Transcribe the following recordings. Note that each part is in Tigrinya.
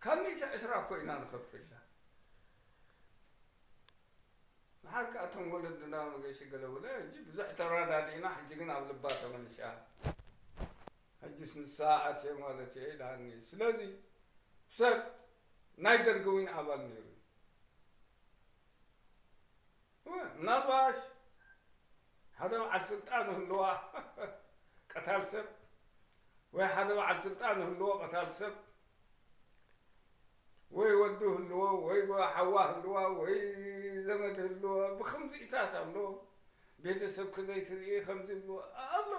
ካብ ሚእቲ ዕስራ እኮ ኢና ንኸፍላ። መሓር ከኣ እቶም ወለድና መገሺ ገለ ውለ ሕጂ ብዙሕ ተረዳዲእና፣ ሕጂ ግን ኣብ ልባ ተመሊሻ። ሕጂስ ንሳ ኣትየ ማለት እየ ኢላኒ። ስለዚ ሰብ ናይ ደርጊ እውን ኣባል ነይሩ እዩ። ምናልባሽ ሓደ በዓል ስልጣን ህልዋ ቀታል ሰብ፣ ወይ ሓደ በዓል ስልጣን ህልዎ ቀታል ሰብ፣ ወይ ወዱ ህልዎ፣ ወይ ሓዋ ህልዋ፣ ወይ ዘመድ ህልዎ፣ ብኸምዚኢታት ኣሎ። ቤተሰብ ክዘይትርኢ ከምዚ ህልዎ ኣሎ።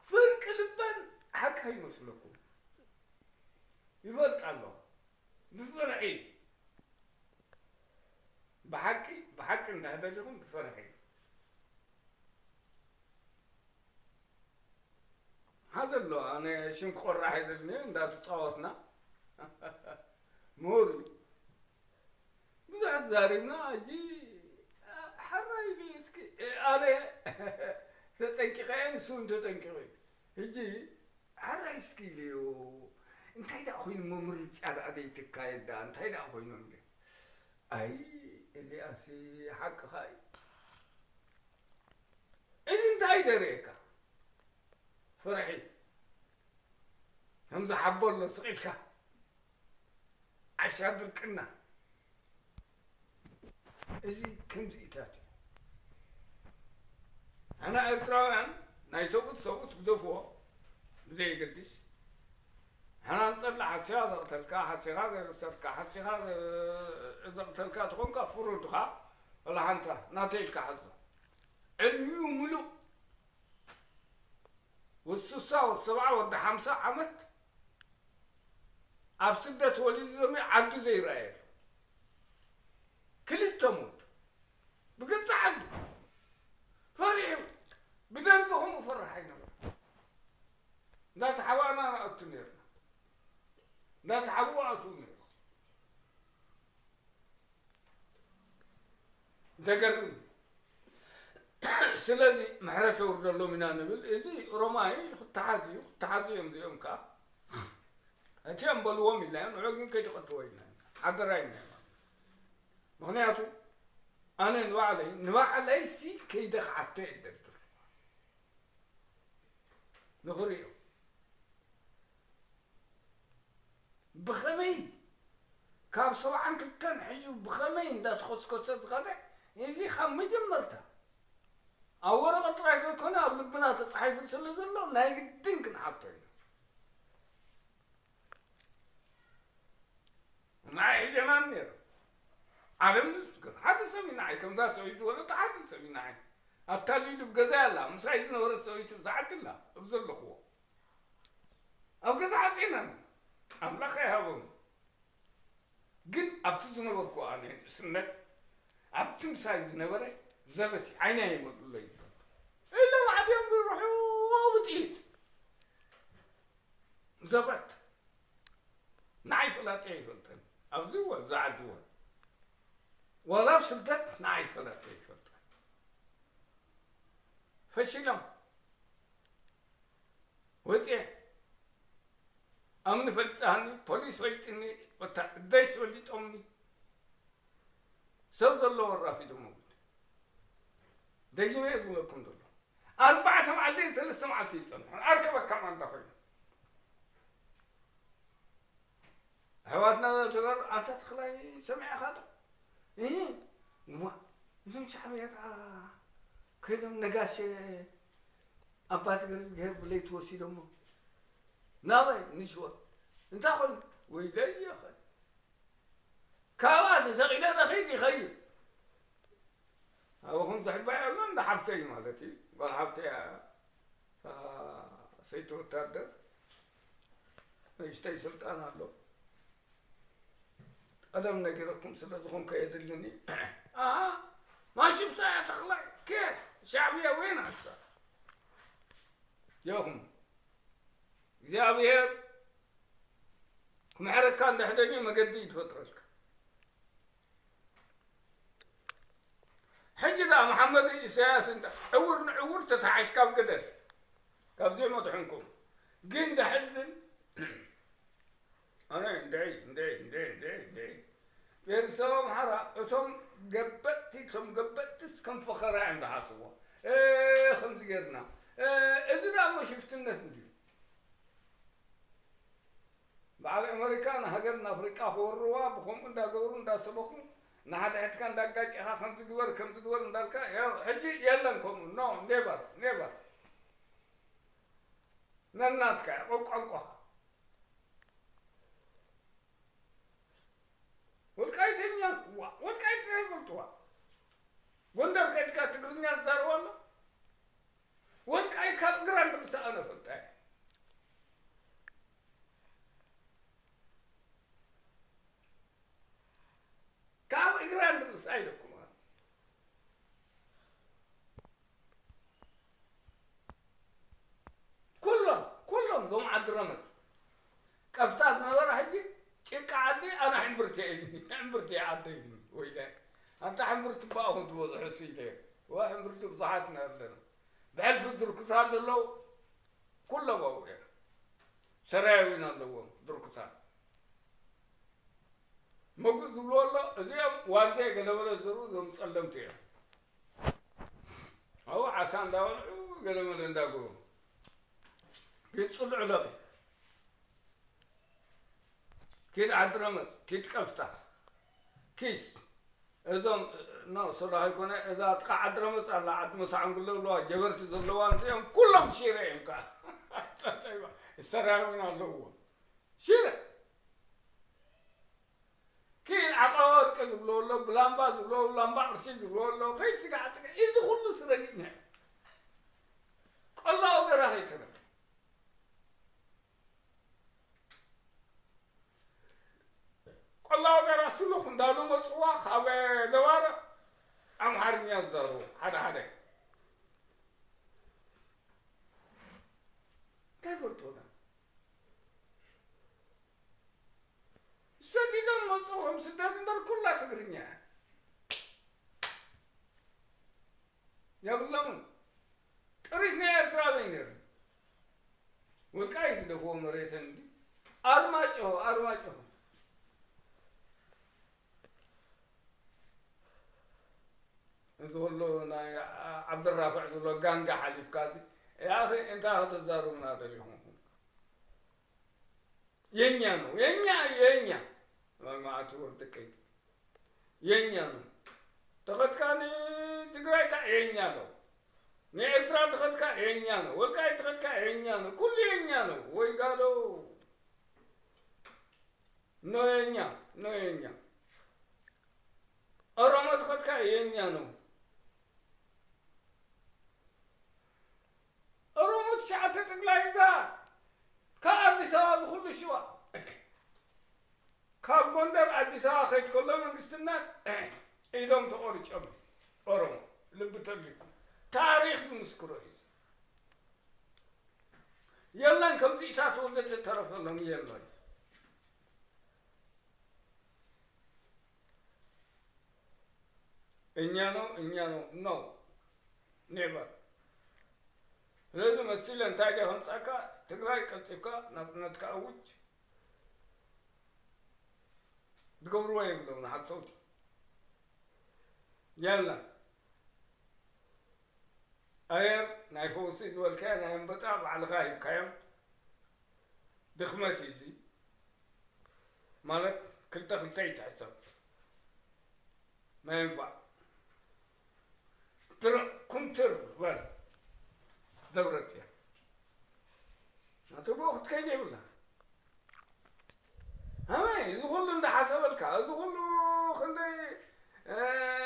ፍርቂ ልበን ሓቂ ኣይመስለኩም። ይፈልጥ ኣሎ። ብፍርሒ። ብሓቂ፣ ብሓቂ እንድሕር ደሊኹም ብፍርሒ። ሓደ ኣሎ፣ ኣነ ሽም ክቆርሕ ኣይደልን እየ፣ እንዳተጻወትና። ምሁር እዩ። ብዙሕ ተዛሪብና፣ ሕጂ ሓራይ ኢሉ እስኪ፣ ኣነ ተጠንቂቐ እየ፣ ንሱ እውን ተጠንቂቑ እዩ። ሕጂ ሓራይ እስኪ ኢለዮ፣ እንታይ ደኣ ኮይኑ እሞ ምርጫ ደኣ ዘይትካየድ ደኣ፣ እንታይ ደኣ ኮይኑ ኢለ። ኣይ፣ እዚኣሲ ሓቅኻ እዩ። እዚ እንታይ ደርእየካ? ፍርሒ። ከምዚ ሓቦ ኣሎ ስቕ ኢልካ። ዓሻ ድርቅና። እዚ ከምዚኢታት እዩ። ኣና ኤርትራውያን ናይ ሰብኡት ሰብኡት ግደፍዎ፣ ብዘየገድስ። ሓና ንጸልእ፣ ሓሲኻ ዘቕተልካ፣ ሓሲኻ ዘየብሰርካ፣ ሓሲኻ ዘ-፣ ዘቕተልካ ተኾንካ ፍሩድኻ፣ ወላ ሓንታ ናተይ ኢልካ ሓዞ። ዕድሚኡ ምሉእ ወዲ ስሳ፣ ወዲ ሰብዓ፣ ወዲ ሓምሳ ዓመት ኣብ ስደት ወሊዱ ዘሚ ዓዱ ዘይረኣየ ኣሎ። ክልተ ሞት ብገዛ ዓዱ ፈሪሑ። ብደርጊ ከምኡ ፈራሕ ኣይነበረ። እንዳተሓባእና ንኣቱ ነርና። እንዳተሓብኡ ኣትዉ ነርና። ደገርም። ስለዚ ምሕረት የውርደሎም ኢና ንብል። እዚ ኦሮማይ ክተሓዝ እዩ፣ ክተሓዙ እዮም እዚኦም ከኣ። እቲኦም በልዎም ኢልና እዮም፣ ንዑ ግን ከይትቐትዎ ኢልና እዮም። ሓደራ ኢልና እዮም። ምኽንያቱ ኣነ ንባዕለይ፣ ንባዕለይሲ ከይደ ክሓቶ እየ ደርግም። ንኽርእዮ። ብኸመይ ካብ ሰብዓን ክልተን ሕዚ ብኸመይ እንዳተኾስኮሰ ዝኸደ፣ እዚ ካብ መጀመርታ ኣብ ወረቐት ጥራይ ከይኮነ ኣብ ልብና ተጻሒፉ ስለ ዘሎ ናይ ግድን ክንሓቶ ኢና። ንዓይ ሒዘናን ነይሩ። ዓለም ንስግር። ሓደ ሰብ እዩ ንዓይ፣ ከምዛ ሰበይቲ ዝበለቶ ሓደ ሰብ እዩ ንዓይ። ኣታሊሉ ብገዛ ኣላ፣ ምሳይ ዝነበረት ሰበይቲ ብዛ ዓዲ ኣላ፣ ኣብ ዘለኽዎ። ኣብ ገዛ ዓጺናን። ኣምላኽ ኣይሃቦም። ግን ኣብቲ ዝነበርኩ ኣነ ንእስነት፣ ኣብቲ ምሳይ ዝነበረ ዘበት እዩ፣ ዓይነይ ኣይመልኡለይ። ኢሎም ዓድዮም ብርሑቕ ብጥይት። ዘበት። ንዓይ ፈላጢ ኣይፈልጥን። ኣብዚ እዋን፣ ኣብዚ ዓዲ እዋን። ዋላ ኣብ ስደት ንዓይ ፈላጢ ኣይፈልጥን። ፈሺሎም። ወፅየ። ኣምኒ ፈሊጣኒ፣ ፖሊስ ፈሊጥኒ፣ ወታደር ፈሊጦምኒ። ሰብ ዘለዎ ኣራፊዶም ኣውድ። ደጊመ እየ ዝብለኩም ዘሎ። ኣርባዕተ መዓልቲ ሰለስተ መዓልቲ ይጸንሑ። ኣርከበካ ማንዳ ኮይኑ። ኣሕዋትና ተጋሩ፣ ኣንታ ተኽላይ ሰሚዕኻ ዶ? እህ፣ እዋ፣ እዞም ሻዕብያ ከኣ ከይዶም ነጋሸ ኣባ ትግርዝግሄር ብለይቲ ወሲዶሞ። ናበይ? ንሽወ። እንታይ ኮይኑ? ወይለየ ኸ። ካብኣ ተሰቒለ ንኸይድ ይኸይድ። ኣብኹም ዝሕባይ ኣሎ እንዳ ሓብተይ ማለት እዩ። ጓል ሓብተይ እያ። እታ ሰይቲ ወታደር ንእሽተይ ስልጣን ኣሎ። ቀደም ነጊረኩም ስለ ዝኾንኩ የድልኒ። ኣሃ፣ ማሽብታ እያ ተኽላይ። ከ ሻዕብያ ወይን ኣሳ። የኹም። እግዚኣብሔር ክምሕረካ እንድሕደልዩ መገዲ እዩ ትፈጥረልካ። ሕጂ ደኣ መሓመድ ኢሳያስ እንዳ ዕውር ንዕውር ተተሓሽካ ኣብ ገደል። ካብ ዘይመድሕንኩም። ግን ደሕዝን ኣነ እንድዒ፣ እንድዒ፣ እንድዒ፣ እንድዒ፣ ብሄረሰብ ኣምሓራ እቶም ገበጥቲ፣ እቶም ገበጥትስ ከም ፈኸራ እዮም ዝሓስብዎ። እ፣ ከምዚ ጌርና፣ እ፣ እዚ ደኣ እሞ ሽፍትነት እንድዩ። በዓል ኣመሪካ ንሃገር ንኣፍሪቃ ክወርዋ ብኸምኡ እንዳገበሩ እንዳሰበኹ ንሓድሕድካ እንዳጋጨኻ ከምዚ ግበር ከምዚ ግበር እንዳልካ ያው ሕጂ የለን ከምኡ። ኖ፣ ኔቨር፣ ኔቨር። ነናትካ እያ፣ ቋንቋኻ። ወልቃይተኛ፣ ዋ፣ ወልቃይት እንታይ ይፈልጥዋ? ጎንደር ከድካ ትግርኛ ትዛረብ ኣሎ? ወልቃይት ካብ እግራ ንርእሳ ኣነ ፈልጣ እየ። ካብ እግራ ንርእሳ ኢለኩም። ኩሎም፣ ኩሎም እዞም ዓዲ ረመፅ ቀፍታ ዝነበረ ሕጂ ጭቃ ዓዲ ኣነ ሕምብርቲ እየ፣ ሕምብርቲ እየ ዓደይ። ወይለ ኣንታ ሕምብርቲ ባኹም ትበዝሑ ሲ ኢለ። ወ ሕምብርቲ ብዙሓት ኢና ኣለና። ብሕልፊ ድርኩታት ዘለዉ ኩሎም ኣብኡ እዮም። ሰራያዊን ኣለዎም ድርኩታት። መጉእ ዝብልዎ ኣሎ፣ እዚኦም ዋንዜ ገለመለ ዝዘርኡ እዞም ጸለምቲ እዮም። ኣብኡ ዓሳ እንዳበልዑ ገለመለ እንዳገበሩ። ኪድ ጽልዑ ለኺ። ኪድ ዓዲ ረመፅ፣ ኪድ ቀፍታ። ኪስ። እዞም፣ ኖ፣ ሶሎ ኣይኮነ፣ እዛ ጥቃ ዓዲ ረመፅ ኣላ፣ ዓዲ መሳዕንጉሎ ኣለዋ፣ ጀበርቲ ዘለዋ፣ እዚኦም ኩሎም ሽረ እዮም ከዓ። ሰራዊን ኣለዎ። ሽረ። ኪድ ዓቃ ወርቂ ዝብሎ ኣሎ፣ ብላምባ ዝብሎ፣ ላምባ ቅርሺ ዝብሎ ኣሎ፣ ከይድ ስጋ ዓፅቂ፣ እዚ ኩሉ ስረጊእና እዩ። ቆላ ወገራ ከይተረፈ። ቆላ ወገራ ስሉኽ እንዳሉ መፅዋ፣ ካብ ደባርቕ ኣምሓርኛ ዝዛረቡ ሓደ ሓደ። እንታይ ፈልጥዎ? ሰዲዶም መፁ፣ ከም ስደት እምበር ኩላ ትግርኛ እያ። የብሎምን። ጥሪት ናይ ኤርትራ በይ ነይሩ። ወልቃይት ግደፍዎ መሬተን እንዲ። ኣርማጭሆ፣ ኣርማጭሆ። እዚ ኩሉ ናይ ዓ-፣ ዓብደራፍዕ ዝብሎ ጋንጋ ሓሊፍካ እዚ፣ ያኺ እንታይ ከተዛርቡና ደሊኹም? የኛ ነው፣ የኛ፣ የኛ። መዓት ወርድቀይ። የኛ ነው። ተኸትካ ንትግራይ ከ የኛ ነው። ንኤርትራ ተኸትካ የኛ ነው። ወልቃይት ተኸትካ የኛ ነው። ኩሉ የኛ ነው። ወይ ጋዶ። ኖ የኛ፣ ኖ የኛ። ኦሮሞ ተኸትካ የኛ ነው። ኦሮሞ ትሽዓተ ጠቅላይ ግዛት ካብ ኣዲስ ኣበባ ዝኹሉ ሽዋ ካብ ጎንደር ኣዲስ ኣበባ ከይድ ከሎ መንግስትነት ኢዶም ተቆሪጮም። ኦሮሞ ልቢ ተልኩም ታሪኽ ዝምስክሮ እዩ። የለን ከምዚኢታት ወዘተ ተረፈሎም የለን። እኛ ነው፣ እኛ ነው፣ ነው። ኔቨር። ስለዚ መሲለ እንታይ ድየ ከምጻካ፣ ትግራይ ቀልጢፍካ ናጽነትካ ኣውጅ። ዝገብርዎ የብሎም ንሓሰውቲ። የለን። ኣየር ናይ ፈውሲ ዝበልካዮ ናይ ኣንበጣ ባዕልኻ ሂብካዮም። ድኽመት እዩ እዚ። ማለት ክልተ ክልተ ይትሕሰብ። ናይ እንፋዕ። ትር-፣ ኩምትር በል። ደብረጽዮን። ናቱ ብኡ ክትከይድ የብላ። ኣመይ፣ እዚ ኩሉ እንዳሓሰበልካ፣ እዚ ኩሉ ክንደይ፣ እ፣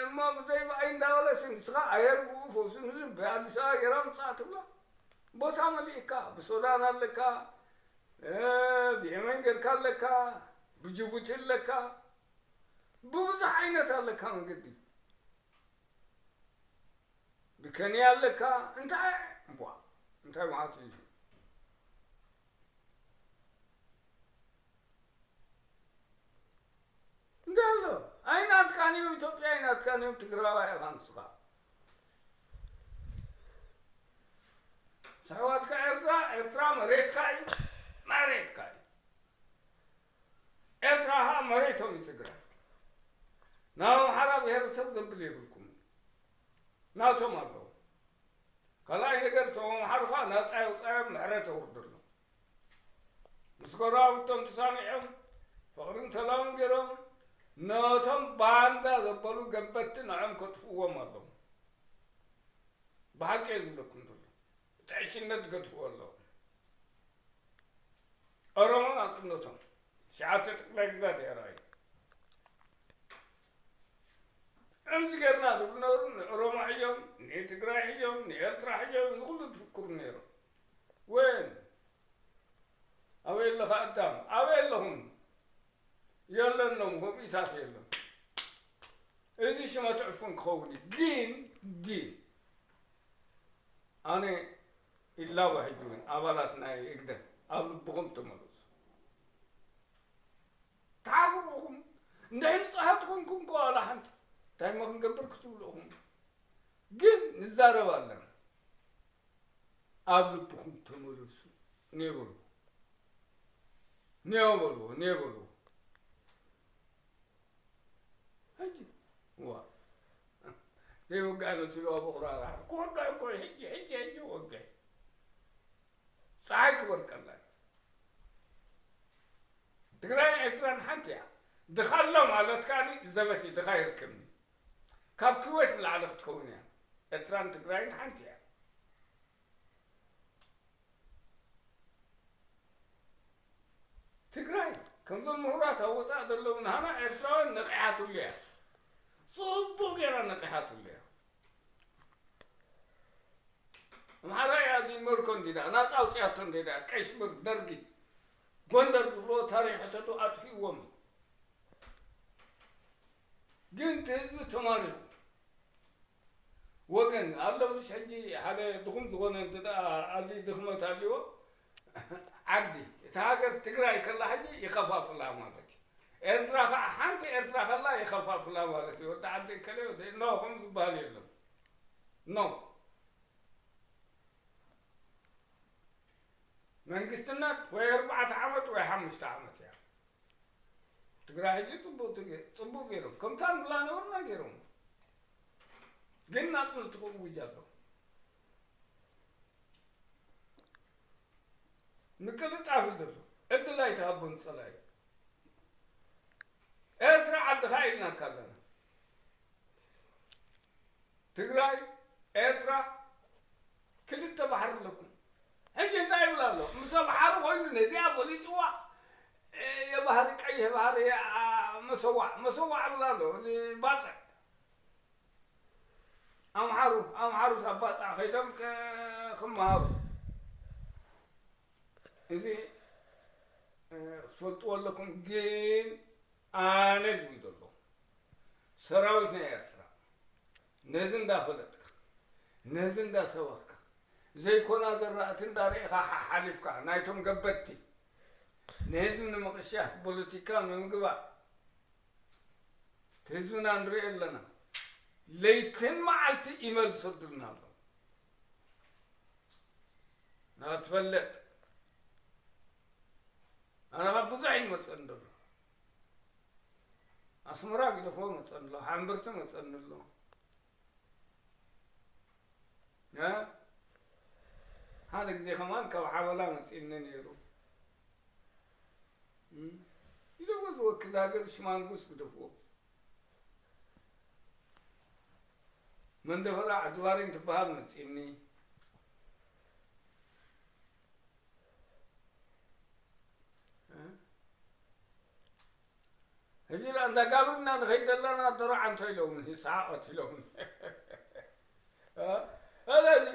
እሞ ብዘይ ብኣይ እንዳበለሲ ንስኻ ኣየር ብኡ ፈውሲ ንዝን ብኣዲስ ኣበባ ጌራ ምጽኣ ትብላ። ቦታ መሊእካ፣ ብሱዳን ኣለካ፣ እ፣ ብየመን ጌርካ ኣለካ፣ ብጅቡቲ ኣለካ፣ ብብዙሕ ዓይነት ኣለካ መገዲ። ብከንያ ኣለካ፣ እንታይ፣ እምቧ፣ እንታይ ማለት እዩ? እንታይ ኣሎ? ኣይናትካን እዮም፣ ኢትዮጵያ ኣይናትካን እዮም፣ ትግራዋይ ኢኻ ንስኻ። ኣሕዋትካ ኤርትራ፣ ኤርትራ መሬትካ እዩ፣ መሬትካ እዩ። ኤርትራ ኸዓ መሬቶም እዩ ትግራይ። ናብ ኣምሓራ ብሄረሰብ ዘብል የብልኩም። ናቶም ኣለዉ። ካልኣይ ነገር፣ እቶም ኣምሓሩ ኸዓ ናጻ የውጻዮም፣ ምሕረት የውርደሎም። ምስ ጎረባብቶም ተሳሚዖም፣ ፍቕርን ሰላምን ገይሮም፣ ነቶም ባንዳ ዘበሉ ገበትቲ ንዖም ከጥፍእዎም ኣለዎም። ብሓቂ እየ ዝብለኩም ዘሎ። እቲ ዕሽነት ገድፍዎ ኣለዎም። ኦሮሞ ናጽነቶም። ትሽዓተ ጠቕላይ ግዛት እያ ራእዩ። ከምዚ ጌርና ዝብሉ ነበሩ። ንኦሮሞ ሒዞም፣ ንትግራይ ሒዞም፣ ንኤርትራ ሒዞም፣ ንኹሉ ዝፍክሩ ነይሮም። ወይን? ኣበይ ኣለኻ ኣዳም? ኣበይ ኣለኹም? የለን፣ ሎም ከምኡታት የለን። እዚ ሽመት ዕፉን ክኸውን እዩ። ግን፣ ግን፣ ኣነ ይላቦ ሕጂ እውን ኣባላት ናይ ህግደፍ ኣብ ልብኹም ተመለሱ። ተሓፍሩ ኢኹም። እንድሕር ንጹሃት ኮንኩም እኮ ዋላ ሓንቲ እንታይ እሞ ክንገብር ክትብሉ ኢኹም። ግን ንዛረብ ኣለና። ኣብ ልብኹም ተመለሱ። ኔበሉ። ኔበሉ፣ ኔበሉ። ሕጂ፣ ዋ። ዘይወጋእ መሲሉ ኣብ ኣኹራራ። ክወጋእ እኮ እዩ። ሕጂ፣ ሕጂ፣ ሕጂ ወጋእ። ጸሓይ ክበርቀላ እዩ። ትግራይን ኤርትራን ሓንቲ እያ። ድኻ ኣሎ ማለት ከኣ ዘበት እዩ፣ ድኻ ይርከብኒ። ካብ ኩዌት ንላዕሊ ክትከውን እያ። ኤርትራን ትግራይን ሓንቲ እያ። ትግራይ ከምዞም ምሁራት ኣብ ወጻኢ ዘለዉ ናህና ኤርትራውያን ነቒሓትሉ እያ። ጽቡቕ ጌራ ነቒሓትሉ እያ። ኣምሓራ እያ እዚ መርኮ እንዲዳ ናጻ ኣውጽያቶ እንዲዳ ቀይ ሽብር ደርጊ ጎንደር ዝብሎ ታሪኽ ሕተቱ ኣጥፊእዎም። ግን እቲ ህዝቢ ተማሪኹ ወገን ኣሎ። ምሽ ሕጂ ሓደ ድኹም ዝኾነ እንተ ደኣ ኣሊ ድኽመት ኣልዎ ዓዲ እታ ሃገር ትግራይ ከላ ሕጂ ይኸፋፍላ ማለት እዩ። ኤርትራ ኸዓ ሓንቲ ኤርትራ ከላ ይኸፋፍላ ማለት እዩ። ወዲ ዓዲ እከለ ወዲ ኖ ከም ዝበሃል የለን። ኖ መንግስትነት ወይ ኣርባዕተ ዓመት ወይ ሓሙሽተ ዓመት እያ። ትግራይ ሕጂ ጽቡቅ ትግ-፣ ጽቡቅ ገይሮም ከምታ ንብላ ነበርና ገይሮም። ግን ናጽነቱ ክእውጅ ኣሎ። ምቅልጣፍ እዩ ዘሎ። ዕድል ኣይትሃቦን ጸላኢ። ኤርትራ ዓድኻ ኢልናካ ኣለና። ትግራይ፣ ኤርትራ፣ ክልተ ባሕሪ ኣለኩም። ሕጂ እንታይ ይብል ኣሎ? ምስ ባሕሪ ኮይኑ ነዚኣ ፈሊጥዋ፣ እ፣ የባህሪ ቀይሕ ባህሪ፣ አ፣ መሰዋዕ፣ መሰዋዕ ይብል ኣሎ። እዚ ባጽዕ። ኣምሓሩ፣ ኣምሓሩስ ኣብ ባጽዕ ከይዶም ከ-፣ ክመሃሩ። እዚ፣ እ፣ ትፈልጥዎ ኣለኩም፣ ግን ኣነ ዝብል ዘለኹ ሰራዊት ናይ ኤርትራ ነዚ እንዳፈለጥካ፣ ነዚ እንዳሰበኽካ፣ ዘይኮና ዘራእቲ እንዳርኢኻ ሓሓሊፍካ፣ ናይቶም ገበትቲ ንህዝቢ ንምቕሻፍ ፖለቲካ ንምግባር ህዝብና ንሪኦ ኣለና። ለይትን መዓልቲ ኢመል ዝሰዱልና ኣለዉ። ንኽትፈልጥ፣ ኣነ ካብ ብዙሕ እዩ ዝመጸኒ ዘሎ። ኣስመራ ግደፎ መጸኒ ኣሎ፣ ሓምብርቲ መጸኒ ኣሎ። እ? ሓደ ግዜ ከማን ካብ ሓበላ መጺእኒ ነይሩ። እም? ኢለዎ ዝወክዝ ሃገር ሽማንጉስ ግደፍዎ። መንደፈራ ዓዲ ባሬን ትበሃል መጺእኒ። እ? ሕጂ ላ እንዳጋብርና ንኸይድ ዘለና ዶሮ ዓንቶ ኢሎምን፣ ይስሓቕ ኢሎምን። እ? ስለዚ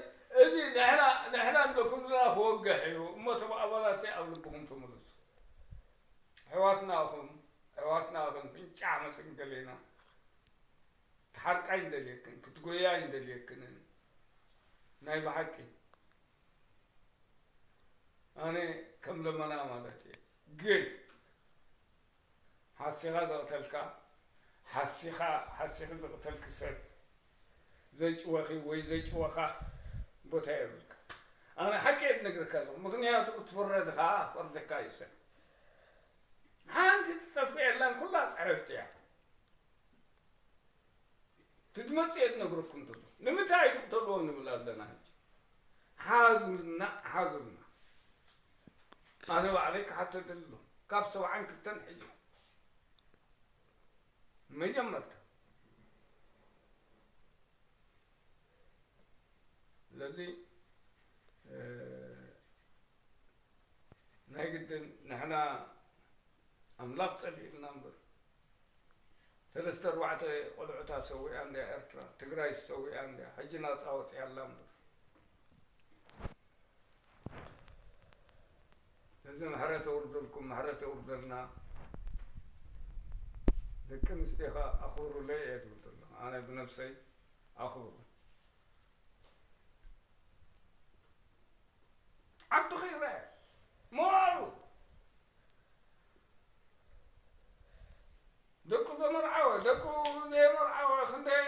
እዚ ንሕና፣ ንሕና ንብለኩም ዘለና ክወግሕ እዩ። እሞ እቶም ኣባላት ኣብ ልብኹም ተመለሱ። ኣሕዋትና ኢኹም፣ ኣሕዋትና ኢኹም፣ ፍንጫሕ መስል ደሌና። ክትሓርቃ ኣይንደልየክን፣ ክትጎያ ኣይንደልየክንን። ናይ ብሓቂ። ኣነ ከም ለመና ማለት እየ። ግን ሓሲኻ ዘቕተልካ፣ ሓሲኻ፣ ሓሲኺ ዘቕተልኪ ሰብ፣ ዘጭወኺ ወይ ዘጭወኻ ቦታ የብልካ። ኣነ ሓቂ እየ ዝነግረካ ኣለኹ። ምኽንያቱ ክትፍረድ ኸዓ ፈርደካ እዩ ሰብ። ሓንቲ ትጠፍእ የላን፣ ኩላ ጽሕፍቲ እያ። ትድመጽ እየ ዝነግረኩም ዘሎ። ንምንታይ ኣይትቕተልዎ ንብል ኣለና ሕጂ። ሓዙልና፣ ሓዙልና። ኣነ ባዕለይ ክሓተደሉ ካብ ሰብዓን ክልተን ሕጂ መጀመርታ። ስለዚ፣ እ፣ ናይ ግድን ንሕና ኣምላኽ ጸሊእልና እምበር፣ ሰለስተ ኣርባዕተ ቆልዑታ ሰዊኣ እንድያ ኤርትራ፣ ትግራይ ሰዊኣ እንድያ፣ ሕጂ ናጻ ወጺኣ ኣላ እምበር። እዚ ምሕረት የውርደልኩም፣ ምሕረት የውርደልና። ደቂ ኣንስትዮኻ ኣኽብሩለይ እየ ዝብል ዘለኹ። ኣነ ብነብሰይ ኣኽብሩ። ዓዱ ኸይረ መዋሉ ደቁ ዘመርዓወ፣ ደቁ ዘየመርዓወ ክንደይ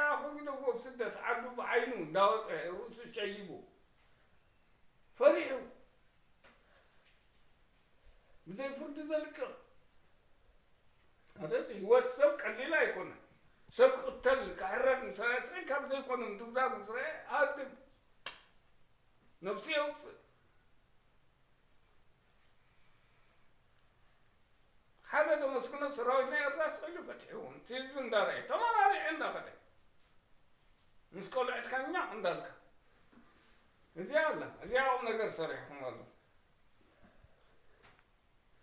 ኣኹ ግደፎ፣ ኣብ ስደት ዓዱ ብዓይኑ እንዳወፀ ርእሱ ሸይቡ ፈሪሑ ብዘይ ፍርዲ ዘልቅቕ። ኣተቲ ህይወት ሰብ ቀሊል ኣይኮነን። ሰብ ክቕተል ክሕረድ ምስ ረኣየ ስቕ ኢልካ ብዘይኮነ ምድብዳብ ምስ ረኣየ ሃድም ነብሱ የውፅእ። ሓደ ዘመስግኖ ሰራዊት ናይ ኤርትራ ስቕ ኢሉ ፈትሕዎም። እቲ ህዝቢ እንዳረኣየ ተመራሪዐ እንዳኸደ ምስ ቆልዕትካ ኛቕ እንዳልካ እዚኣ ኣላ። እዚኣ ቁም ነገር ሰሪሕኩም ኣሎ።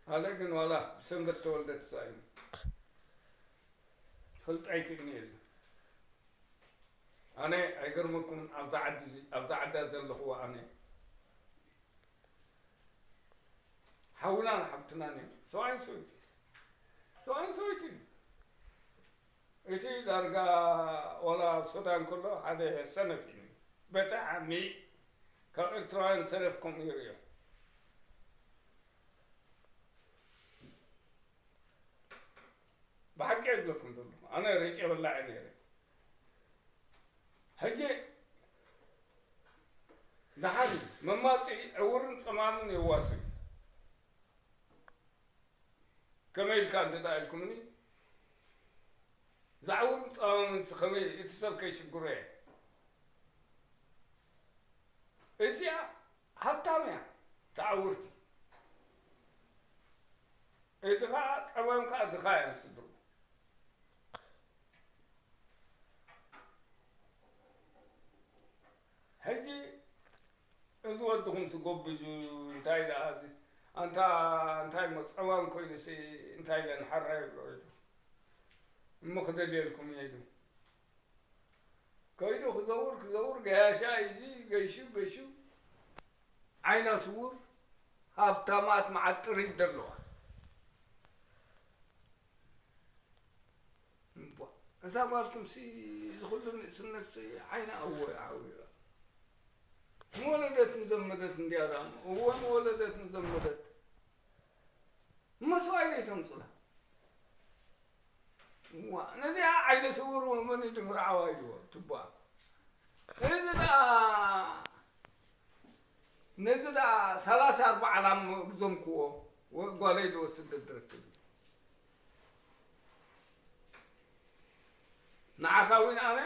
ኣለ ግን ዋላ ብሰንበት ተወልደ ተሳኢኑ። ክፈልጥ ኣይክእልን እየ እዚ። ኣነ ኣይገርመኩም ኣብዛ ዓዲ እዚ፣ ኣብዛ ዓዳ ዘለኹዋ ኣነ። ሓውናን ሓብትናን እዮም። ሰብኣይን ሰበይትን። ሰብኣይን ሰበይትን። እቲ ዳርጋ ዋላ ኣብ ሱዳን ከሎ ሓደ ሰነፍ እዩ። ብጣዕሚ ካብ ኤርትራውያን ሰነፍ ከምኡ ይርእዮ። ብሓቂ ይብለኩም ዘለኹ። ኣነ ርጭ በላዕ ነይረ። ሕጂ ደሓን መማፅኢ ዕውርን ፀማምን የዋስእ። ከመይ ኢልካ እንተ ደኣ ኢልኩምኒ፣ ዛዕውርን ፀማምን ከመይ እቲ ሰብ ከይሽግሮ እየ። እዚኣ ሃብታም እያ፣ ተዓውርቲ። እቲ ኸዓ ጸማም ከኣ ድኻ እዮም ስድሩ። ሕጂ እዚ ወድኹምሲ ጎብዙ፣ እንታይ ደኣ እዚ፣ ኣንታ እንታይ እሞ ጸማም ኮይኑሲ እንታይ ኢለ ንሓራ ይብሎ ኢሉ። እሞ ክደልየልኩም እየ ኢሉ። ከይዱ ክዘውር ክዘውር ገያሻ እዩ፣ ገይሹ ገይሹ ዓይና ስውር ሃብታማት መዓት ጥሪት ደለዋ። እምቧ፣ እዛ ጓልኩምሲ እዚ ኩሉ ንእስነትሲ ዓይና እወ ዓዊራ። ምወለደት ምዘመደት እንድያ ደኣ እሞ። እወ ምወለደት ምዘመደት። መስዋእቲ ዘይተምጽላ። እዋ፣ ነዚኣ ዓይነ ስውር መን እዩ ድምርዓዋ ኢልዎ፣ ትባ። እዚ ደኣ፣ ነዚ ደኣ ሰላሳ ኣርባዓ ላም ግዘምክዎ፣ ወ-፣ ጓለይ ዝወስድ ድረክብ። ንዓኻ እውን ኣነ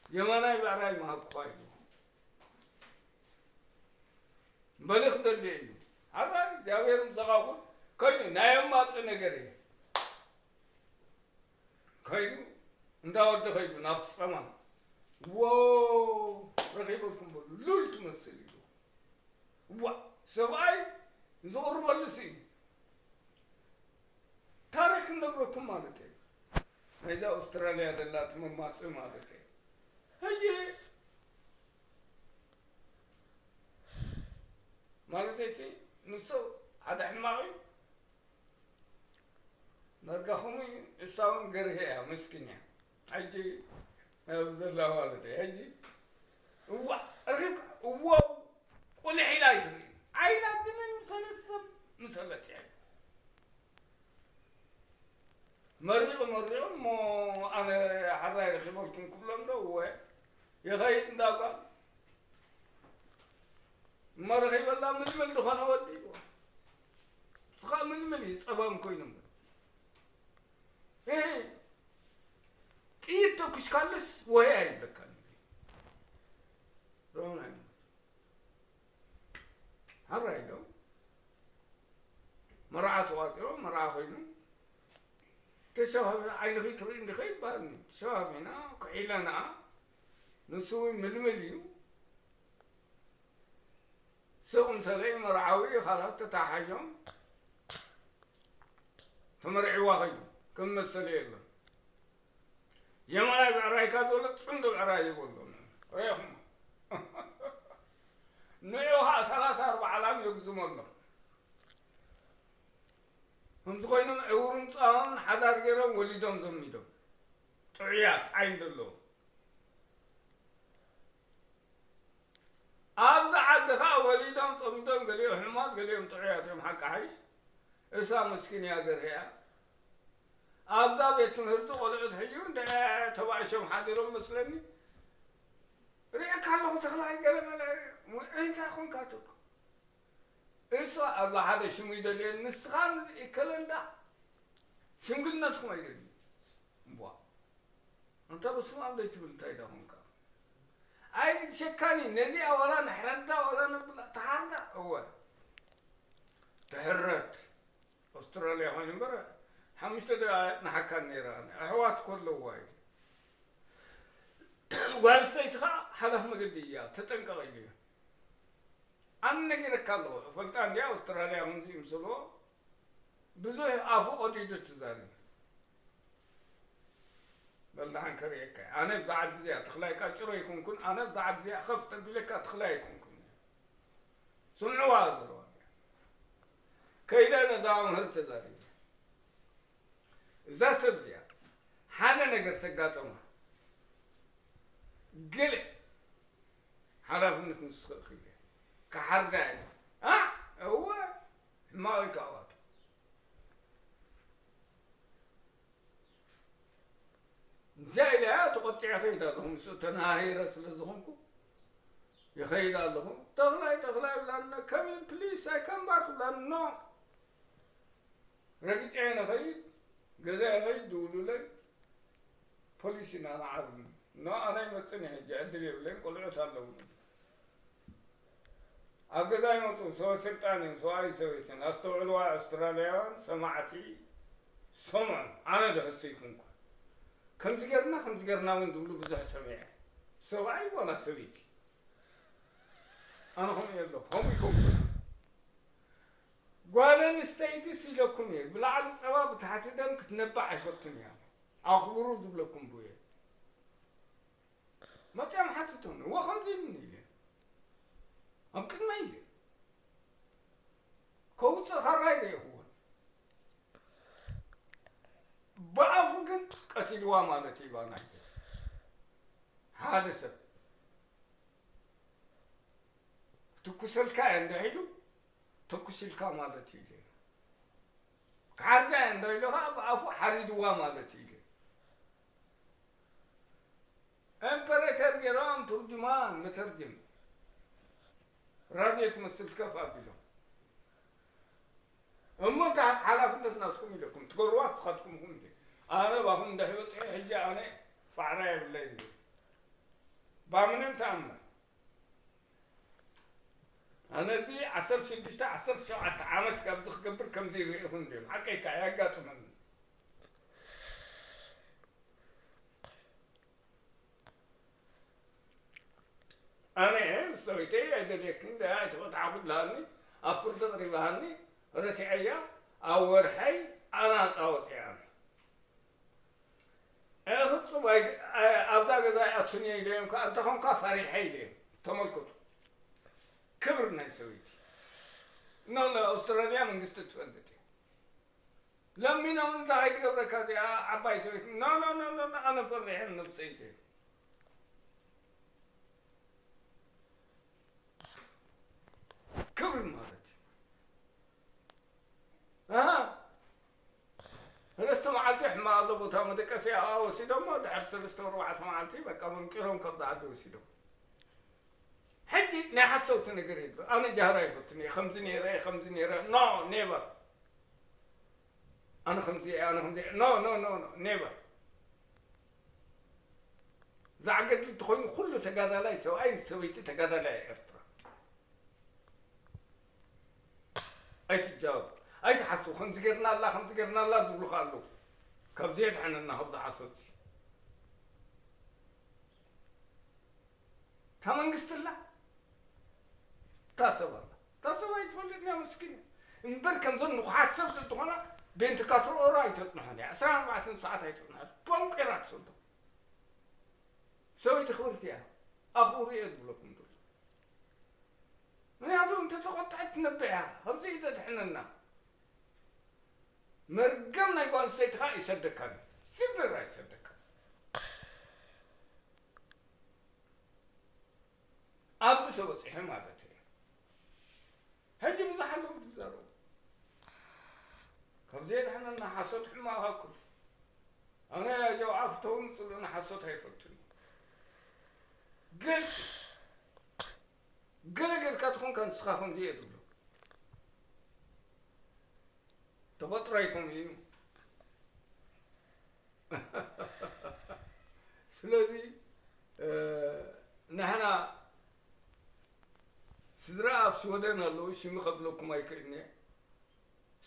የማናይ ብዕራይ ምሃብኩኻ ኢልዎ። በሊ ክደሊ እዩ። ሓራይ እግዚኣብሔር ምሳኻ ይኹን። ከይዱ ናይ ኣማጺ ነገር እዩ። ከይዱ እንዳ ወዲ ከይዱ ናብቲ ጸማም። ዎ ረኺበልኩም በሉ። ሉል ትመስል ኢሉ። ዋ ሰብኣይ ዝቕርበሉ ስኢኑ። ታሪኽ ክነግረኩም ማለት እዩ። ናይዛ ኣውስትራልያ ዘላ እቲ መማጽኢ ማለት እዩ። ሕጂ ማለት እዩ፣ ንሱ ሓደ ሕማቕ እዩ። መርጋኹም እዩ፣ እሳ እውን ገርሄ እያ፣ ምስኪን እያ። ሕጂ ናብዚ ዘላ ማለት እዩ። ሕጂ እዋ፣ ረኺብካ፣ እዎ፣ ቁልሕ ኢላ ኣይትርኢ። ዓይና ግን ምሰለት ሰብ ምሰለት እያ። መሪቑ መሪቑ እሞ ኣነ ሓራይ ረኺበልኩም ክብሎም ዶ? እወ፣ ይኸይድ እንዳ ጓል። እሞ ረኺበላ ምልምል ዝኾነ ወዲ እዎ። ንስኻ ምልምል እዩ ጸባም ኮይኑ እምበር። እህ፣ ካልስ ወይ ኣይብለካን። ሮና ሓራይ ዶ መርዓ ተዋፂኦ፣ መርዓ ኮይኑ፣ ተሸባቢና ዓይንኺ ትርኢ እንዲኸ ይበሃልኒ። ተሸባቢና፣ ክዒለና፣ ንሱ እውን ምልምል እዩ። ስቕ ምሰለይ መርዓዊ፣ ኻላስ ተተሓሒዞም፣ ተመርዒዋ ኸዩ፣ ከም መሰለ የለን። የማናይ ብዕራይካ ዘሎ ጽምዲ ብዕራይ ይበሎ። ሪኢኹሞ። ንዑ ኸዓ ሰላሳ ኣርባዓ ላም የጉዝመሎም። ከምዚ ኮይኖም ዕውሩም ጻውን ሓዳር ገይሮም ወሊዶም ዘሚዶም። ጥዑያት ዓይኒ ዘለዎም። ኣብዚ ዓዲ ኸዓ ወሊዶም ጸሚዶም፣ ገሊኦም ሕማት፣ ገሊኦም ጥዑያት እዮም። ሓቂ ሓይሽ እሳ መስኪን እያ ገርህያ። ኣብዛ ቤት ትምህርቲ ቆልዑት ሕጂ እውን ተባእሾም ሓዲሮም መስለኒ። ሪእካ ኣለኹ ተኽላይ ገለ መለ እንታይ ኮንካ ትብሎ? እሱ ኣብ ሓደ ሽሙ ይደልየን፣ ንስኻ ይከለንዳ ሽምግልነትኩም ኣይደልዩ። እምቧ። እንተ በስመ ኣብ ዘይትብል እንታይ ዳ ኮንካ? ኣይ ሸካኒ ነዚኣ ዋላ ንሕረዳ ዋላ ነብላ፣ ትሓርዳ፣ እወ። ትሕረድ። ኣውስትራልያ ኮይኑ እምበር ሓሙሽተ ደቂቕ ንሓካን ነይራ። ኣሕዋት እኮ ኣለዋ እዩ። ጓል ኣንስተይቲ ኸዓ ሓላፍ መገዲ እያ፣ ተጠንቀቕ ኢሉ እዩ። ኣነ ነጊረካ ኣለኹ፣ እፈልጣ እንድያ ኣውስትራልያ ከምዚ ይምስልዎ፣ ብዙሕ ኣፉ ቀዲዱ ትዛረብ። በል ደሓን ከርእየካ እየ። ኣነ ብዛ ዓዲ እዚኣ ተኽላይ ቃጭሮ ኣይኮንኩን፣ ኣነ ብዛ ዓዲ እዚኣ ኸፍ ተቢለካ ተኽላይ ኣይኮንኩን። ስምዕዋ ዘረባ እዚኣ። ከይደ ነዛ መምህር ተዛሪበ። እዛ ሰብ እዚኣ ሓደ ነገር ተጋጠማ፣ ገለ ሓላፍነት ምስ ትኽእል ክሓርዳ እየ። ኣ፣ እወ፣ ሕማቕ እዩ ካብኣቱ። እንዛ ኢለ እያ ተቖጢዐ እኸይድ ኣለኹ። ምስኡ ተነሃሂረ ስለ ዝኾንኩ ይኸይድ ኣለኹ። "ተኽላይ፣ ተኽላይ" ይብላኒ። "Come in please, I come back" ይብላኒ። ኖ። ረጊጸ እየ ንኸይድ፣ ገዛ ይኸይድ፣ ድውሉለይ። ፖሊስ ኢና ንዓርኒ። ኖ፣ ኣነ ኣይመጽን እየ ሕጂ፣ ዕድል የብለይን፣ ቆልዑት ኣለውኒ። ኣብ ገዛ ይመጹ፣ ሰበ ስልጣን እዮም፣ ሰብኣይን ሰበይትን። ኣስተውዕልዋ፣ ኣውስትራልያውያን ሰማዕቲ፣ ስምዑ፣ ኣነ ድሕሱ ይኩንኩ። ከምዚ ጌርና፣ ከምዚ ጌርና እውን ዝብሉ ብዙሕ ሰሚዐ። ሰብኣይ ዋላ ሰበይቲ። ኣነ ከምኡ እየ ኣለኹ፣ ከምኡ ይከውን። ጓል ኣንስተይትስ ኢለኩም እየ፣ ብላዕሊ ጸባ ብታሕቲ ደም ክትነብዕ ኣይፈቱን እያ። ኣኽብሩ ዝብለኩም ብየ። መጺኦም ሓትቱኒ፣ እወ ከምዚ ኢሉኒ ኢለ። ኣብ ቅድመይ ኢለ። ከውጽእ ካራ ኣይረእኹዎን። ብኣፉ ግን ቀቲልዋ ማለት እዩ፣ ባና ሓደ ሰብ ክትኩሰልካ እየ እንድሕ ኢሉ፣ ተኩስ ኢልካ ማለት እዩ ኢለ። ክሓርዳ እየ እንድሕ ኢሉ ኸዓ ብኣፉ ሓሪድዋ ማለት እዩ ኢለ። ኢምፐሬተር ገይሮም ትርጅማን መተርጅም ራድዮ ትመስል ከፍ ኣቢሎም። እሞ እንታይ ሓላፍነት ናትኩም ኢለኩም ትገብርዋ ንስኻትኩም ኢኹም እንዴ? ኣነ ባኹም እንድሕ በጺሐ ሕጂ ኣነ ፋዕራ የብለይን። ባምንም ተኣምር ኣነ እዚ ዓሰርተ ሽዱሽተ ዓሰርተ ሸውዓተ ዓመት ካብዚ ክገብር ከምዚ ይርእኹም እንድዮም። ሓቀይካ የጋጥመኒ። ኣነ ምስ ሰበይተይ ኣይደልየክን ደኣ ኣይተፈትሓኹ ብላኒ፣ ኣብ ፍርዲ ኣቕሪባሃኒ፣ ረቲዐያ፣ ኣብ ወርሐይ ኣናጻ ወጺኣ። ኣነ ፍጹም ኣይ-፣ ኣይ-፣ ኣብዛ ገዛ ኣይኣቱን እየ ኢለዮም ከኣ፣ እንተኾንካ ፈሪሐ ኢለዮም። ተመልከቱ። ክብሪ ናይ ሰበይቲ። ኖ፣ ኖ፣ ኣውስትራልያ መንግስቲ ትፈልጥ እያ። ለሚኖም እንታይ ከይትገብረካ እዚኣ ዓባይ ሰበይቲ። ኖ፣ ኖ፣ ኖ፣ ኖ፣ ኖ፣ ኣነ ፈሪሐ ነብሰይ ኢለዮም። ክብሪ ማለት እዩ። ኣሃ። ሰለስተ መዓልቲ ሕማቕ ኣሎ ቦታ መደቀሲ ኣብኣ ወሲዶሞ፣ ድሕሪ ሰለስተ ኣርባዕተ መዓልቲ በቃ መንቂሮም ካብዛ ዓዲ ወሲዶም። ሕጂ ናይ ሓሰውቲ ነገር የለ። ኣነ ጃህራ ይፈትን እየ፣ ከምዚ ነይረ እየ፣ ከምዚ ነይረ፣ ኖ፣ ኔቨር። ኣነ ከምዚ እየ፣ ኣነ ከምዚ እየ፣ ኖ፣ ኖ፣ ኖ፣ ኖ፣ ኔቨር። ዛዕ ገድሊ እንተኾይኑ ኩሉ ተጋዳላይ ሰብኣይ ምስ ሰበይቲ ተጋዳላይ እያ ኤርትራ። ኣይትጃወቡ፣ ኣይትሓስቡ፣ ከምዚ ጌርና ኣላ፣ ከምዚ ጌርና ኣላ ዝብሉኻ ኣለዉ። ካብዚ የድሕነና፣ ካብዚ ሓሶት እዚ። እታ መንግስቲ ኣላ፣ እታ ሰብ ኣላ። እታ ሰብ ኣይትፈልጥን እያ፣ መስኪን እያ። እምበር ከምዘን ንቑሓት ሰብ እንተኾና፣ ቤንት ካትሮ ኦሮ ኣይተጽንሖን እያ። ዕስራን ኣርባዕተን ሰዓት ኣይተጽንሖን። ቦንቂራ ትሰዶ። ሰበይቲ ክብርቲ እያ። ኣኽብሩ እየ ዝብለኩም ዘሎ። ምኽንያቱ እንተተቖጥዐት ትነብዕ እያ። ከምዚ እዩ ዘድሕነና። መርገም ናይ ጓል ኣንስተይቲ ኸኣ ይሰደካ። ሲልቨር ኣይሰደካ። ኣብዚ ተበጺሐ ማለት እየ። ሕጂ ብዙሕ ኣለዉ ዝዛረቡ። ካብዚ የድሕነና፣ ሓሶት ሕማቕ ሃኩ። ኣነ ያጀው ኣፍተውን ጽሉእን ሓሶት ኣይፈቱን። ግልጺ። ገለ ጌርካ ትኾንካ ንስኻ ከምዚ እየ ዝብሎ። ተፈጥሮ ኣይኮን እዩ። ስለዚ፣ እ፣ ንሕና ስድራ ኣብ ሽወደን ኣለዉ፣ ሽሚ ከብለኩም ኣይክእልን እየ።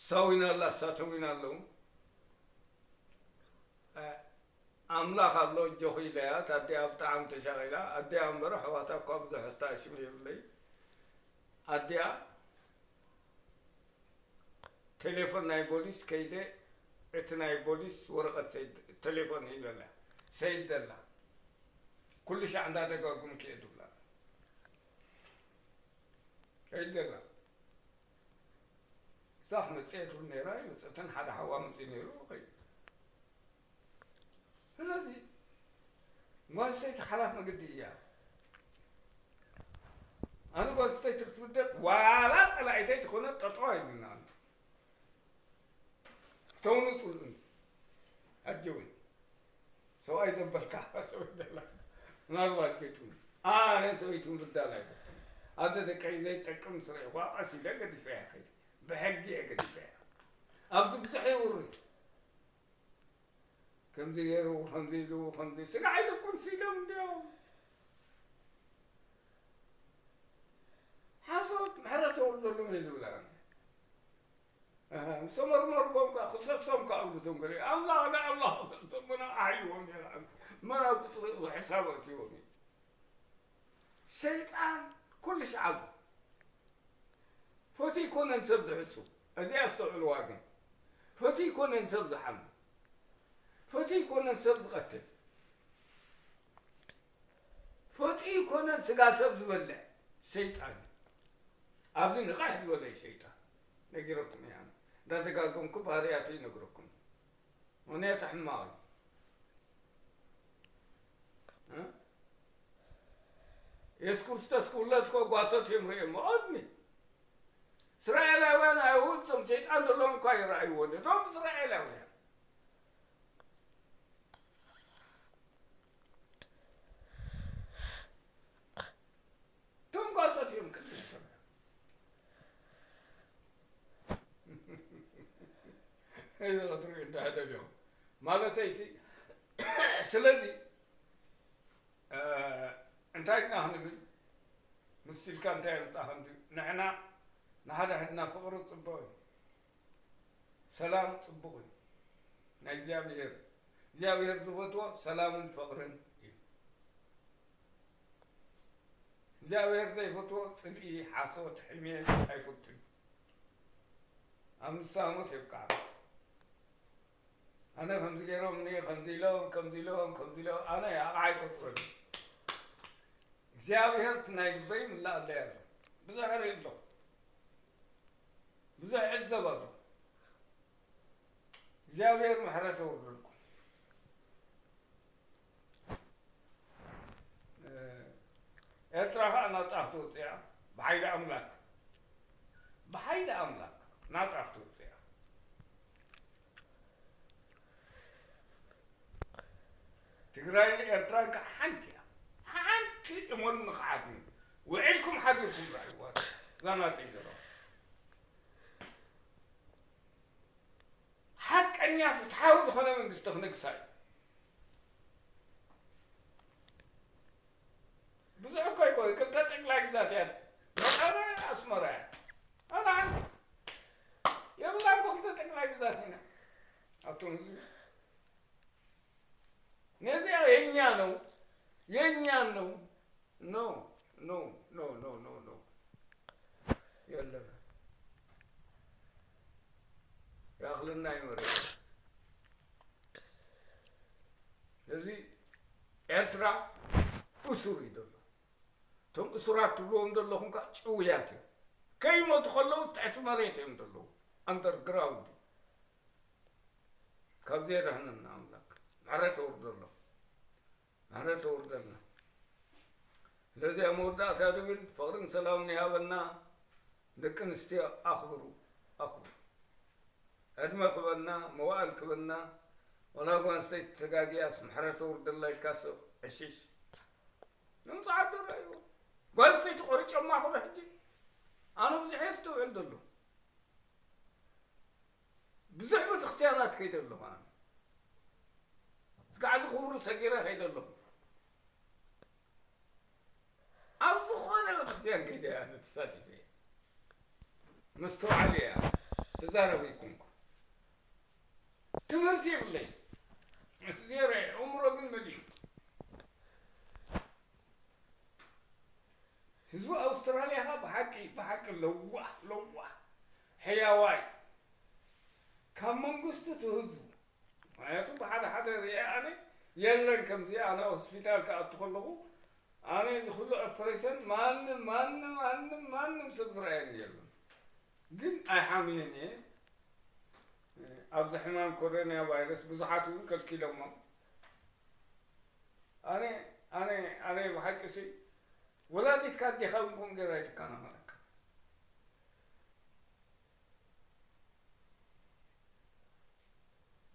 ሳዊና ኣላ፣ ሳተዊና ኣለዉ። እ፣ ኣምላኽ ኣሎ፣ ኣጆኺ ኢለያ፣ እታ ኣዲኣ ብጣዕሚ ተሻቒላ። ኣዲኣ እምበር ኣሕዋታ እኳ ብዙሕ ኣስተኣሽም የብለይ። ኣዲኣ ቴሌፎን ናይ ቦሊስ ከይደ፣ እቲ ናይ ቦሊስ ወረቐት ሰይድ፣ ቴሌፎን ሂበላ። ሰይድ ደላ። ኩሉ ሻዕ እንዳደጋጉምኪ እየ ድብላ። ሰይድ ደላ። እዛ ክመጽእ እየ ትብል ነይራ፣ ኣይመጸትን፣ ሓደ ሓዋ መጺኡ ነይሩ፣ ከይዱ። ስለዚ ጓል ኣንስተይቲ ሓላፍ መገዲ እያ። ኣነ ጓል ኣንስተይቲ ክትብደል ዋላ ጸላኢተይ ትኾነ ጠጠው ኣይብልና። ኣነ ፍተውኒ ጽልኡኒ። ኣጀወይ። ሰብኣይ ዘበልካ ሰበይ ደላ። ምናልባት ከይትውን። ኣነ ሰበይትን ብዳል ኣይፈቱን። ኣደ ደቀይ ዘይጠቅም ስረ ይኳ ቀስ ኢለ ገዲፈያ ከይደ። ብሕጊ እየ ገዲፈያ። ኣብዚ ብዙሕ የውሪ። ከምዚ ገይሩ፣ ከምዚ ኢሉ፣ ከምዚ ስጋዕ ኢሉ ቁርሲ ኢሎም እንዲዮም። ሓሶት ምሕረት የውርደሎም እዩ ዝብላ። ኣሃ፣ ምስ ተመርመርኩም ከኣ ክሰሶም ከኣ ኣብልቶም ገለ ኣምላኽ ንኣምላኽ ክሰሶም መን ኣሕይዎም ነይራ። መን ኣብ ቁጽሪ ሕሳብ ኣእትዎም እዩ። ሰይጣን ኩሉ ሻዕ ኣሎ። ፈትዩ ኣይኮነን ሰብ ዝሕሱ። እዚ ኣስተውዕልዋ ግን። ፈትዩ ኣይኮነን ሰብ ዝሓሚ። ፈትዩ ኣይኮነን ሰብ ዝቐትል። ፈትዩ ኣይኮነን ስጋ ሰብ ዝበልዕ። ሰይጣን እዩ። ኣብዚ ንቕሕ ዝበለ እዩ ሰይጣን። ነጊረኩም እየ ኣነ። እንዳተጋገምኩ ባህርያቱ ይነግረኩም። ምኽንያቱ ሕማቕ እዩ። እ? የሱስ ክርስቶስ ክውለድ እኮ ጓሶት እዮም ርእዮሞ። ቅድሚ እስራኤላውያን ኣይሁድ እቶም ሰይጣን ዘለዎም እኳ ይረኣይዎ ነይሮም። እቶም እስራኤላውያን እቶም ጓሶት እዮም ቅድሚ እስራኤል። እዚ ክትሪኡ እንዳሕደገ ማለተይሲ። ስለዚ፣ እ፣ እንታይ ኢና ክንብል? ምስ ኢልካ እንታይ ኣምጻእካ እንድዩ? ንሕና ንሓድሕድና ፍቕሪ ጽቡቕ እዩ። ሰላም ጽቡቕ እዩ። ናይ እግዚኣብሔር፣ እግዚኣብሔር ዝፈትዎ ሰላምን ፍቕርን እዩ። እግዚኣብሔር ዘይፈትዎ ጽልኢ፣ ሓሶት፣ ሕሜት ኣይፈቱን። ኣብ ንስሓ ሞት የብቅዓና። ኣነ ከምዚ ገይሮምኒ፣ ከምዚ ኢሎም፣ ከምዚ ኢሎም፣ ከምዚ ኢሎም፣ ኣነ ኣቕዓ ኣይቆጽረሉ። እግዚኣብሔር እቲ ናይ ልበይ ምላኣለይ ኣሎ። ብዙሕ እርኢ ኣለኹ። ብዙሕ እዕዘብ ኣለኹ። እግዚኣብሔር ምሕረት የውርደልኩም። እ፣ ኤርትራ ኸኣ ናጻ ክትወጽእ እያ። ብሓይሊ ኣምላክ። ብሓይሊ ኣምላክ ናጻ ክትወጽእ እያ። ትግራይን ኤርትራን ከዓ ሓንቲ እያ። ሓንቲ እመኑኒ ክሓትኒ። ውዒልኩም ሓዲርኩም ረኣይዋ እዛ ናተይ ዘረባ። ሓቀኛ ፍትሓዊ ዝኾነ መንግስቲ ክነግሳ እዩ። ብዙሕ እኮ ኣይኮነ፣ ክልተ ጠቅላይ ግዛት እያ። መቐለ ኣስመራ እያ። ኣነ ሓንቲ የብላን እኮ፣ ክልተ ጠቅላይ ግዛት ኢና። ኣቱም ህዝቢ፣ ነዚኣ የኛ ነው፣ የኛ ነው። ኖ፣ ኖ፣ ኖ፣ ኖ፣ ኖ፣ ኖ። የለን። ይኣኽለና እዩ መሬት። ስለዚ ኤርትራ እሱር እዩ ዘሎ። እቶም እሱራት ትብልዎም ዘለኹም ከኣ ጭውያት እዮም። ከይሞቱ ከለዉ ትሕቲ መሬት እዮም ዘለዉ። ኣንደርግራውንድ። ካብዚ የድሕነና ኣምላክ። ምሕረት የውርደሎም። ምሕረት የውርደልና። ስለዚ ኣብ መወዳእታ ዝብል ፍቕርን ሰላምን ይሃበና። ደቂ ኣንስትዮ ኣኽብሩ፣ ኣኽብሩ። ዕድመ ክበና፣ መዋእል ክበና። ወላ ጓል ኣንስተይቲ ተጋጊያስ ምሕረት የውርደላ ኢልካ ሰብ ዕሽሽ። ንምጽዓት ዶ ረኣይዎ? ጓል ኣንስተይቲ ቆሪጮማ ኩሉ ሕጂ። ኣነ ብዙሕ የስተውዕል ዘሎ። ብዙሕ ቤተክርስትያናት ከይደ ኣለኹ ኣነ። እስካዕ እዚ ክቡር ሰጊረ ከይደ ኣለኹ። ኣብ ዝኾነ ቤተክርስትያን ከይደ ኣነ ተሳቲፈ እየ። መስተውዓሊ እያ። ተዛረቢ ኣይኮንኩ። ትምህርቲ የብለይ። ዜሮ እየ። ኣእምሮ ግን መሊኡ። ህዝቢ ኣውስትራልያ ኸኣ ብሓቂ፣ ብሓቂ ለዋህ፣ ለዋህ፣ ሕያዋይ፣ ካብ መንግስቱ እቲ ህዝቡ። ምኽንያቱ ብሓደ ሓደ ሪአ ኣነ፣ የለን ከምዚ። ኣነ ሆስፒታል ክኣቱ ከለኹ፣ ኣነ እዚ ኩሉ ኦፕሬሽን ማንም፣ ማንም፣ ማንም፣ ማንም ሰብ ዝረኣየኒ የለን። ግን ኣይሓምየን እየ። ኣብዚ ሕማም ኮሮና ቫይረስ ብዙሓት እውን ከልኪሎሞም። ኣነ፣ ኣነ፣ ኣነ ብሓቂ ሲ ወላዲትካ ኣዴኻ እውን ከምኡ ገይራ ኣይትከናኸነካ።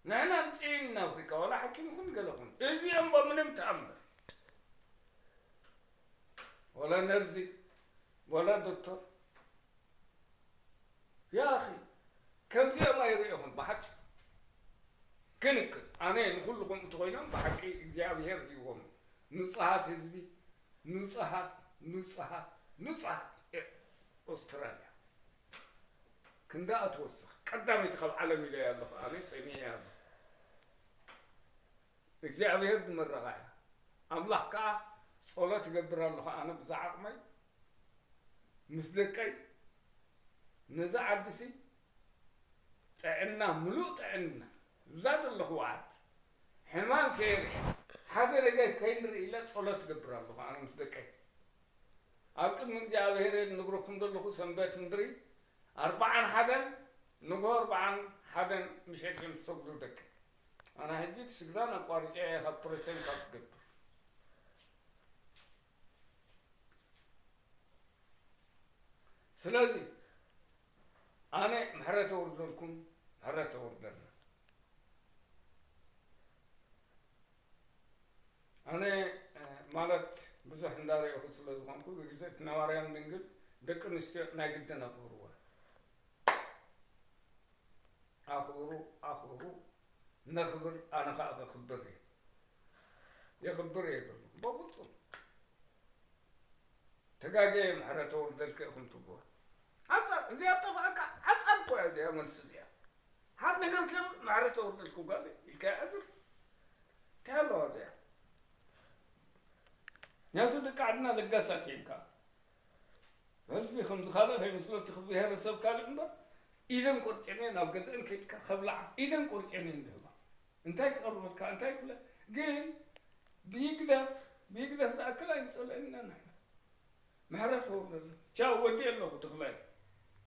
ንሕና ንጽይን ኣፍሪካ፣ ዋላ ሓኪም ይኹን ገለ ኹን፣ እዚኦም ብምንም ተኣምር፣ ዋላ ነርዚ፣ ዋላ ዶክተር፣ ያ ኣኺ፣ ከምዚኦም ኣይርእኹን ብሓቂ። ክንክን፣ ኣነ ንኹሉ ከምኡ እንተኾይኖም ብሓቂ እግዚኣብሔር ሂዎም። ንጹሃት ህዝቢ፣ ንጹሃት፣ ንጹሃት፣ ንጹሃት። ኤ-፣ ኣውስትራልያ። ክንደኣ ትወስኽ። ቀዳመይቲ ካብ ዓለም ኢለያ ኣለኹ፣ ኣነ ሰሚዐያ ኣለኹ። እግዚኣብሔር ዝመረቓ እያ። ኣምላኽ ከኣ ጸሎት እገብር ኣለኹ፣ ኣነ ብዛ ዓቕመይ፣ ምስ ደቀይ፣ ነዛ ዓድሲ ጥዕና፣ ምሉእ ጥዕና፣ ብዛ ዘለኹዋ ዓዲ፣ ሕማም ከየርኢ፣ ሓደ ነገር ከይንርኢ ኢለ ጸሎት እገብር ኣለኹ፣ ኣነ ምስ ደቀይ። ኣብ ቅድሚ እግዚኣብሔር እየ ዝነግረኩም ዘለኹ፣ ሰንበት ምድሪ፣ ኣርብዓን ሓደን፣ ንግሆ ኣርብዓን ሓደን ምሸት እዮም ዝሰግዱ ደቂ። ኣነ ሕጂ እቲ ስግዳን ኣቋሪጸ እየ ካብ ፕሬሰን ካብ ትገብር። ስለዚ ኣነ ምሕረት የውርደልኩም፣ ምሕረት የውርደልና። ኣነ፣ እ፣ ማለት ብዙሕ እንዳረእኹ ስለ ዝኾንኩ፣ ብግዜ እቲ ነባርያን ድንግል ደቂ ኣንስትዮ ናይ ግድን ኣኽብርወን። ኣኽብሩ፣ ኣኽብሩ፣ ነኽብር፣ ኣነ ኸኣ ከኽብር እየ። የኽብር እየ በሉ። በፍጹም። ተጋግየ ምሕረት የውርደልኪ ኢኹም ትብልዎ። ሓጻር፣ እዚኣ ጠፍኣካ፣ ሓጻር እኮ እያ እዚኣ መልሲ እዚኣ። ሓድ ነገር ከም ምሕረት የውርደልኪ ጓል ኢልካ ይኣዝር። እንታይ ኣለዋ እዚኣ? ምኽንያቱ ደቂ ዓድና ለጋሳት እዮም ከኣ። ሕልፊ ከምዚ ካልእ ከይመስለኪ ብሄረሰብ ካልእ እምበር፣ ኢደን ቆርጨን እየን ናብ ገዝአን ከይድካ ከብልዓ፣ ኢደን ቆርጨን እየን ዝህባ። እንታይ ክቐርበልካ፣ እንታይ ክብለ፣ ግን ብይግደፍ፣ ብይግደፍ ዝኣክል ኣይንጸልአን ኢና ንሕና። ምሕረት የውርደልና። ቻው፣ ወዲኤ ኣለኹ ተኽላይ።